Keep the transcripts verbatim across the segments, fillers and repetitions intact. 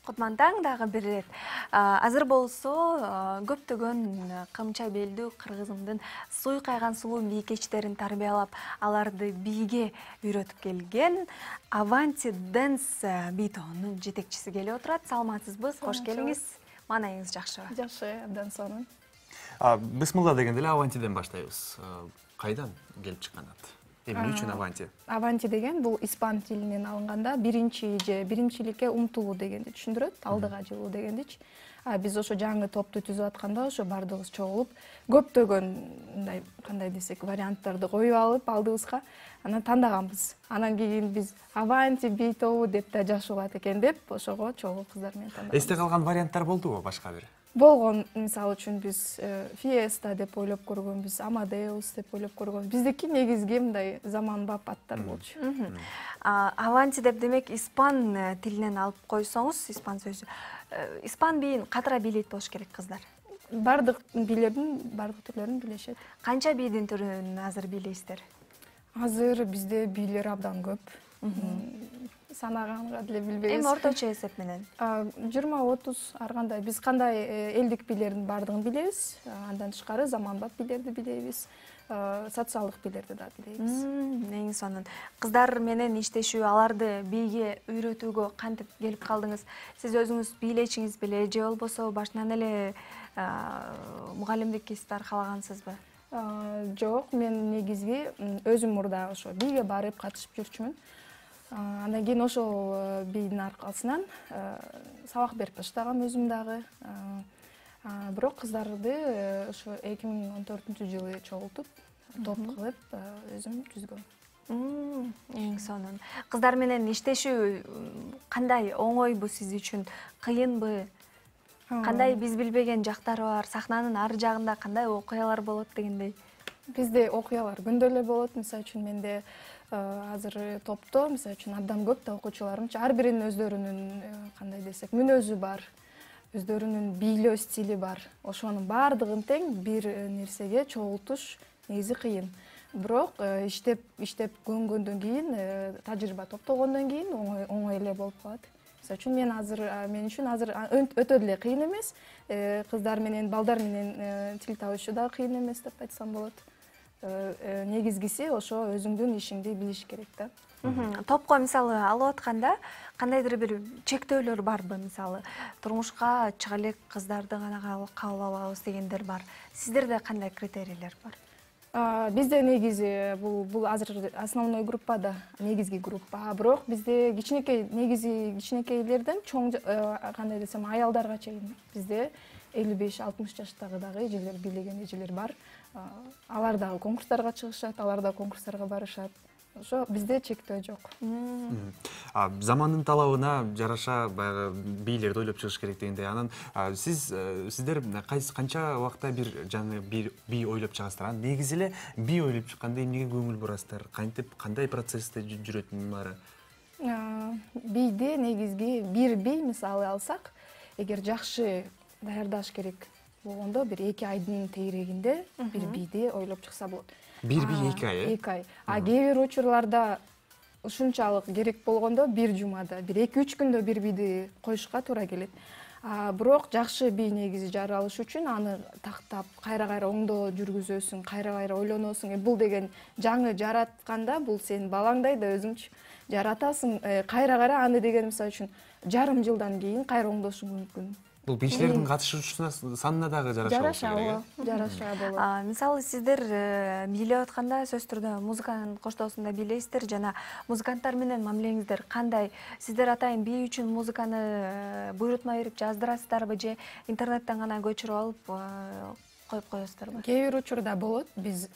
Кутмантаң дагы бир ирет. Азыр болсо көптөгөн кымча белдүү кыргызымдын суй кайган сулуу бийкечтерин тарбиялап, аларды бийге үйрөтүп келген Avanti Dance бий тобунун жетекчиси келип отурат. Саламатсызбы? Кош келиңиз. Маанайыңыз жакшыбы? Жакшы, абдан сонун. Бисмилла дегенде эле Авантиден баштайбыз. Кайдан келип чыккан ат? Эмне үчүн Avanti? Avanti деген бул испан тилинен алынганда биринчи же биринчиликке умтулуу дегенди түшүндүрөт, алдыга жылуу дегендичи. Биз ошо жаңы топту түзүп атканда ошо бардыгыбыз чогулуп, көптөгөн мындай кандай десек варианттарды коюп алып алдыбызга, анан тандаганбыз. Анан кийин биз Avanti бий тобу деп да жакшы болот экен деп, ошого чогуу кыздар менен тандаганбыз. Эсте калган варианттар болдубу башка бир? Болгон, мисалы үчүн биз Fiesta деп ойлоп көргөнбүз, Amadeus деп ойлоп көргөнбүз. Биздики негизги мындай заманбап аттар болчу. Avanti деп демек испан тилинен алып койсоңуз, испан сөзү. Испан бийин катыра бийлейт болуш керек кыздар. Бардык бийлердин бардык түрлөрүн билишет. Канча бийдин түрүн азыр бийлейсиздер? Азыр бизде бийлер абдан көп. Санаганга деле билбейбиз. Эми орточо эсеп менен жыйырма отуз ар кандай. Биз кандай элдик бийлердин бардыгын билебиз. Андан тышкары заманбап бийлерди билебиз. Социалдык бийлерди да билебиз. Эң сонун. Кыздар менен иштешүү, аларды бийге үйрөтүүгө кантип келип калдыңыз? Сиз өзүңүз бийлечиңиз беле же болбосо башынан эле мугалимдик кесипти аркалагансызбы? Жок, мен негизги өзүм мурда ошо бийге барып катышып жүрчүмүн. Андан кийин ошол бийдин аркасынан сабак берип баштагам өзүм дагы. Бирок кыздарды ошо эки миң он төртүнчү жылы чогултуп, топ кылып өзүм түзгөм. Эң сонун. Кыздар менен иштешүү кандай, оңойбу сиз үчүн, кыйынбы? Кандай биз билбеген жактары бар? Сахнанын ар жагында кандай окуялар болот дегендей? Бизде окуялар күндө эле болот. Мисалы үчүн менде азыр топто, мисалы үчүн абдан көп да окуучуларым, ар биринин өздөрүнүн кандай десек, мүнөзү бар, өздөрүнүн бийлөө стили бар. Ошонун баардыгын тең бир нерсеге чогултуш негизи кыйын. Бирок иштеп иштеп көнгөндөн кийин, тажрыйба топтогондон кийин оңой оңой эле болуп калат. Мисалы үчүн мен азыр мен үчүн азыр өтө деле кыйын эмес. Кыздар менен, балдар менен тил табышуу да кыйын эмес деп айтсам болот. Негизгиси ошо өзүңдүн ишиңди билиш керек да. Топко мисалы алып атканда кандайдыр бир чектөөлөр барбы? Мисалы, турмушка чыга элек кыздарды гана кабыл алабыз дегендер бар. Сиздерде кандай критерийлер бар? Бизде негизи бул бул азыр основной группада, негизги группа. Бирок бизде кичинекей, негизи кичинекейлерден чоң кандай десем, аялдарга чейин бизде элүү беш алтымыш жаштагы дагы эжелер, бийлеген эжелер бар. Алар дагы конкурстарга чыгышат, алар да конкурстарга барышат. Ошо бизде чектөө жок. Замандын талабына жараша баягы бийлерди ойлоп чыгыш керек дегенде, анан сиз сиздер кайсы канча убакта бир жаңы бир бий ойлоп чыгасыздар? Анан негизи эле бий ойлоп чыкканда эмнеге көңүл бурасыздар? Кантип, кандай процессте жүрөт мунун баары? Бийди негизги бир бий мисалы алсак, эгер жакшы даярдаш керек болгондо бир эки айдын тегерегинде бир бийди ойлоп чыкса болот. Бир бий эки ай, э? эки ай. А кээ бир учурларда ушунчалык керек болгондо бир жумада, бир эки үч күндө бир бийди коюшка туура келет. Бирок жакшы бий негизи жаралыш үчүн аны тактап, кайра-кайра оңдоо жүргүзөсүң, кайра-кайра ойлоносуң. Бул деген жаңы жаратканда бул сенин балаңдай да өзүңчү жаратасың. Кайра-кайра аны деген мисалы үчүн жарым жылдан кийин кайра оңдошуң мүмкүн. Бул бийчилердин катышуучусуна санына дагы жараша болот. Жараша, жараша болот. Мисалы, сиздер бийлеп атканда сөзсүз түрдө музыканын коштоосунда бийлейсиздер жана музыканттар менен мамилеңиздер кандай? Сиздер атайын бий үчүн музыканы буйрутма берип жаздырасыздарбы же интернеттен гана көчүрүп алып коюп коесуздарбы? Кээ бир учурда болот. Биз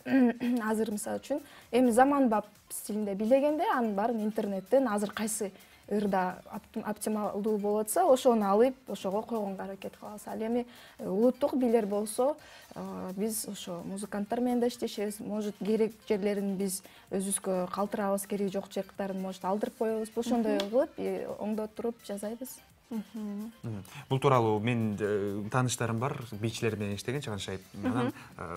азыр мисалы үчүн эми заманбап стилинде бийлегенде анын баарын интернеттен азыр кайсы ырда оптималдуу болотса, ошону алып, ошого койгонго аракет кылабыз. Ал эми улуттук бийлер болсо, биз ошо музыканттар менен да иштешебиз. Может, керек жерлерин биз өзүбүзгө калтырабыз, кереги жок жактарын может алдырып коебуз. Ошондой кылып, оңдотуруп жазайбыз. Бул тууралуу мен тааныштарым бар, бийчилер менен иштеген чыганшайып. Анан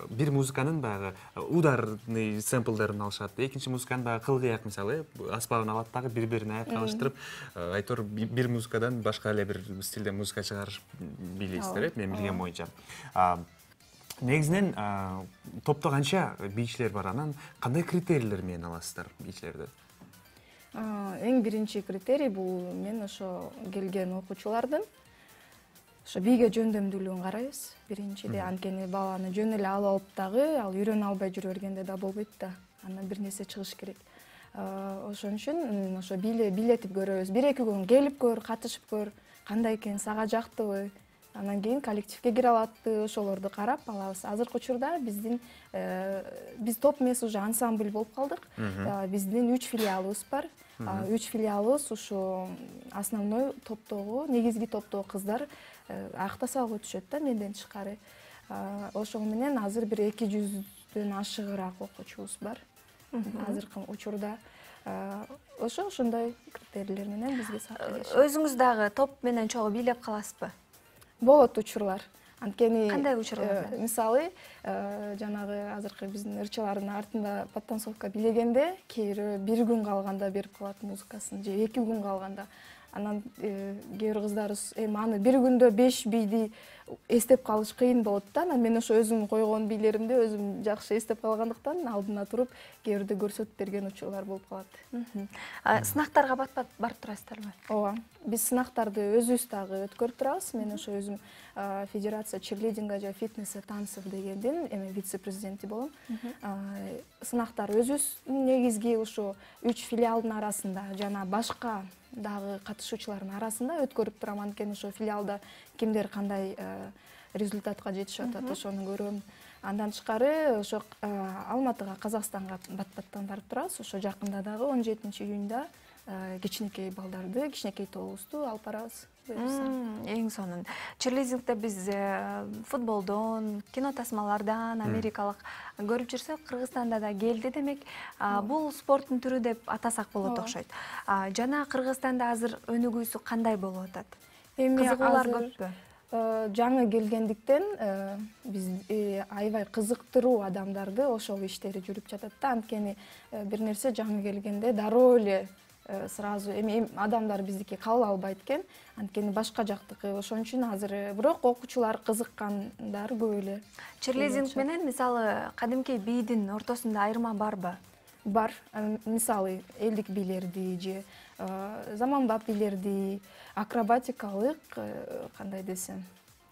бир музыканын баягы ударный сэмплдерин алышат, экинчи музыканын баягы кылгыяк мисалы, аспабын алат дагы бири-бирине аякталыштырып, айтор бир музыкадан башка эле бир стилде музыка чыгарыш бийлейсиздер, э, мен билгем боюнча. Негизинен топто канча бийчилер бар, анан кандай критерийлер менен аласыздар бийчилерди? Эң биринчи критерий бул мен ошо келген окуучулардын ошо бийге жөндөмдүүлүгүн карайбыз биринчиде. Анткени баланы жөн эле алып алып дагы ал үйрөнө албай жүрө бергенде да болбойт да. Андан бир нерсе чыгыш керек. Ошон үчүн ошо бийлетип көрөбүз. Бир эки күн келип көр, катышып көр, кандай экен, сага жактыбы? Анан кийин коллективге кире алатты, ошолорду карап алабыз. Азыркы учурда биздин биз топ эмес, уже ансамбль болуп калдык. Биздин үч филиалыбыз бар. Үч филиалыбыз ушу основной топтогу, негизги топтогу кыздар актасалга өтүшөт да, менден тышкары. Ошол менен азыр бир эки жүздөн ашыгыраак окуучубуз бар. Азыркы учурда ошо ошондой критерийлер менен бизге сатып. Өзүңүз дагы топ менен чогуу бийлеп каласызбы? Болот учурлар. Анткени кандай учурлар? Мисалы, жанагы азыркы биздин ырчылардын артында подтанцовка бийлегенде, кээ бир күн калганда берип калат музыкасын, же эки күн калганда. Анан кээ бир кыздарыбыз эми аны бир күндө беш бийди эстеп калыш кыйын болот да. Анан мен ошо өзүм койгон бийлеримди өзүм жакшы эстеп калгандыктан алдына туруп кээ бирде көрсөтүп берген учурлар болуп калат. Сынактарга бат-бат барып турасыздарбы? Ооба. Биз сынактарды өзүбүз дагы өткөрүп турабыз. Мен ошо өзүм Федерация чирлидинга же фитнеса танцев дегендин эми вице-президенти болом. Сынактар өзүбүздүн негизги ушу үч филиалдын арасында жана башка дагы катышуучулардын арасында өткөрүп турам. Анткени ошо филиалда кимдер кандай результатка жетишип атат, ошону көрөм. Андан тышкары ошо Алматыга, Казакстанга бат-баттан барып турабыз. Ошо жакында дагы он жетинчи июнда кичинекей балдарды, кичинекей тобубузду алып барабыз. Эң сонун. Чирлидингде биз футболдон, кино тасмалардан, америкалык көрүп жүрсөк, Кыргызстанда да келди демек. Бул спорттун түрү деп атасак болот окшойт. Жана Кыргызстанда азыр өнүгүүсү кандай болуп атат? Кызыгуулар көппү? Жаңы келгендиктен биз аябай кызыктыруу адамдарды ошол иштери жүрүп жатат да. Анткени бир нерсе жаңы келгенде дароо эле сразу эми адамдар биздики кабыл албайт экен. Анткени башка жактыкы. Ошон үчүн азыр бирок окуучулар кызыккандар көп эле. Чирлидинг менен мисалы кадимки бийдин ортосунда айырма барбы? Бар. Мисалы элдик бийлерди же заманбап бийлерди, акробатикалык кандай десем,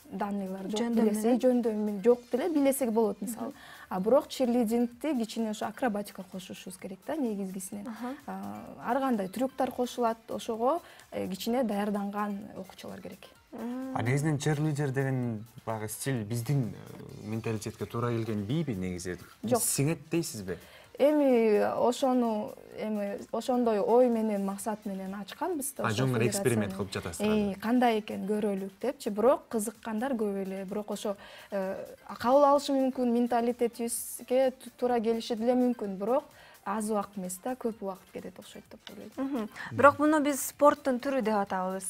данныйлар жок билесек, жөндөмү жок деле билесек болот мисалы. А бирок чирлидингди кичине ошо акробатика кошушубуз керек да негизгисинен. Ар кандай трюктар кошулат, ошого кичине даярданган окуучулар керек. А негизинен чирлидер деген баягы стиль биздин менталитетке туура келген бийби негизи? Жок. Сиңет дейсизби? Эми ошону эми ошондой ой менен, максат менен ачканбыз да. А жөн эле эксперимент кылып жатасыздар. Кандай экен көрөлүк депчи, бирок кызыккандар көп эле. Бирок ошо кабыл алышы мүмкүн, менталитетибизге туура келиши деле мүмкүн, бирок аз убакыт эмес да, көп убакыт кетет окшойт деп ойлойм. Бирок муну биз спорттун түрү деп атабыз.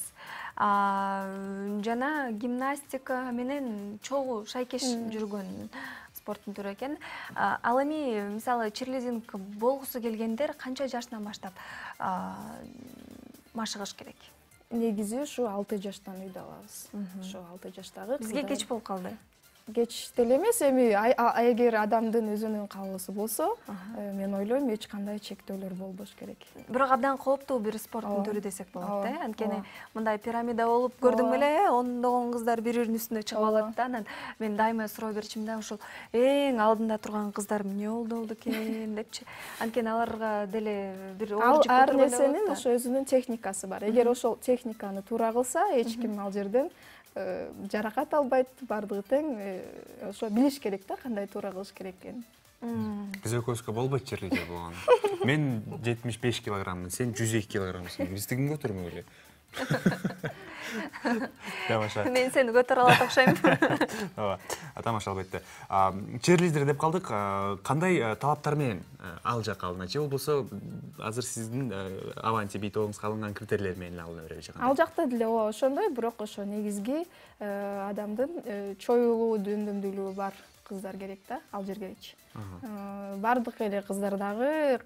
Жана гимнастика менен чогуу шайкеш жүргөн спорттун түрү экен. Ал эми мисалы чирлидинг болгусу келгендер канча жаштан баштап машыгыш керек? Негизи ушу алты жаштан үйдө алабыз. Ошо алты жаштагы. Бизге кеч болуп калды. Кеч деле эмес, эми эгер адамдын өзүнүн каалоосу болсо, мен ойлойм эч кандай чектөөлөр болбош керек. Бирок абдан кооптуу бир спорттун түрү десек болот да. Анткени мындай пирамида болуп көрдүм эле, ондогон кыздар бири-биринин үстүнө чыгып алат да. Анан мен дайыма суроо берчимин да, ошол эң алдында турган кыздар эмне болду экен депчи. Анткени аларга деле бир оор жүк ар нерсенин ошо өзүнүн техникасы бар. Эгер ошол техниканы туура кылса, эч ким ал жерден жаракат албайт, бардыгы тең. Ошо билиш керек да, кандай туура кылыш керек экенин. Биз экөөбүзгө болбойт чирлидер болгон. Мен жетимиш беш килограммын, сен жүз эки килограммсың. Бизди ким көтөрмөк эле? Мен сени көтөрө алат окшойм. Ооба. тамаша албетте. Черлидер деп калдык. Кандай талаптар менен ал жакка алынат же болбосо азыр сиздин Avanti би тобуңузга алынган критерийлер менен алына береби же кандай? Ал жакта деле ооба ошондой, бирок ошо негизги адамдын чоюлуу, дөндөмдүүлүгү бар кыздар керек да, ал жергечи. Бардык эле кыздар дагы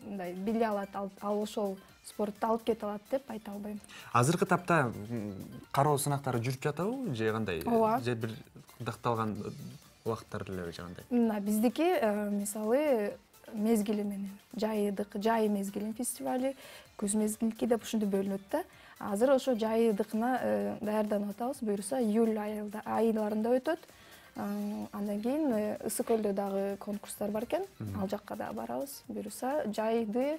мындай биле алат, ал ошол спортто алып кете алат деп айта албайм. Азыркы тапта кароо сынактары жүрүп жатабы же кандай? Ооба. Же бир дакталган убакыттар элеби же кандай? Мына биздики мисалы мезгили менен жайдык, жай мезгилин фестивали, күз мезгилки деп ушинтип бөлүнөт да. Азыр ошо жайдыкына даярданып атабыз. Буюрса июль айларында өтөт. Андан кийин Ысык көлдө дагы конкурстар бар экен. Ал жакка да барабыз. Буюрса жайды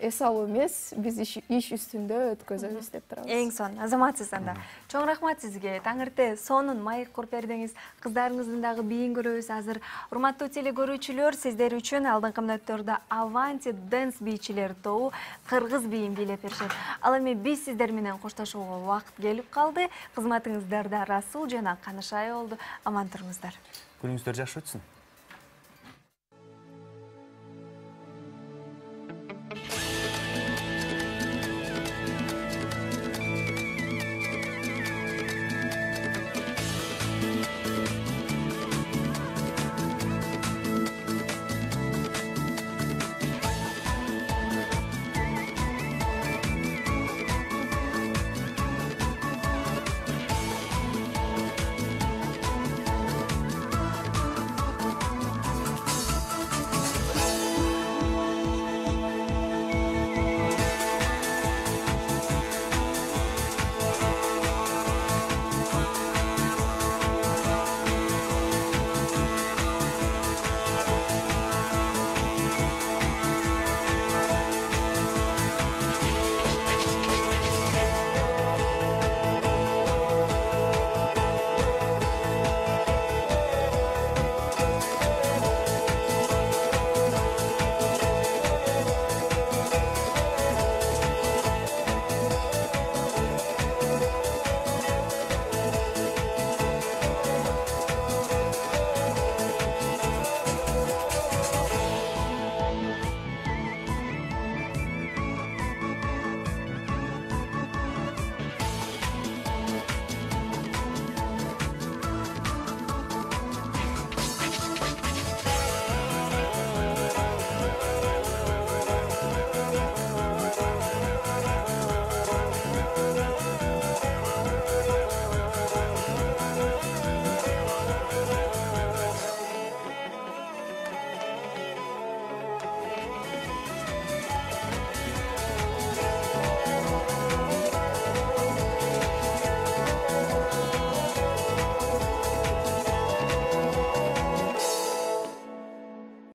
эс алуу эмес, биз иш үстүндө өткөзөбүз деп турабыз. Эң сонун, азаматсыз анда. Чоң рахмат сизге. Таңыртэ сонун маек куруп бердиңиз. Кыздарыңыздын дагы бийин көрөбүз азыр. Урматтуу теле көрүүчүлөр, сиздер үчүн алдыңкы мүнөттөрдө Avanti Dance бийчилер тобу кыргыз бийин бийлеп беришет. Ал эми биз сиздер менен коштошууга убакыт келип калды. Кызматыңыздарда Расул жана Канышай болду. Аман туруңуздар. Күнүңүздөр жакшы өтсүн.